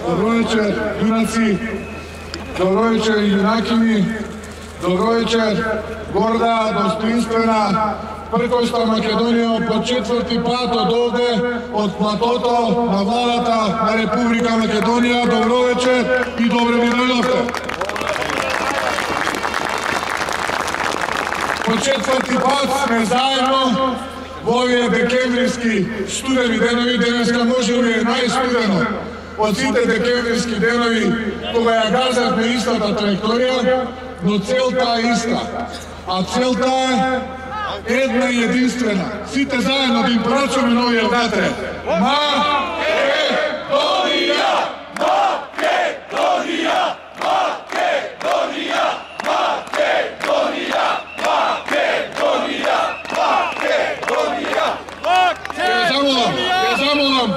Dobro večer, junaci, dobro večer, junakini, dobro večer, горда, достоинствена, пркоста Македонија по четврти пат од овде, од платото на владата на Република Македонија. Добро вечер и добре ми дојдовте. По четврти пат сме заедно во овие декемвриски студени денови. Денеска може би е најстудено од сите декемвриски денови кога ја газавме истата траекторија, но целта е иста. А целта е една и единствена. Сите заедно да им порачаме новиот ватре. Македонија! Македонија! Македонија! Македонија! Македонија! Македонија! Македонија! Ја замолам,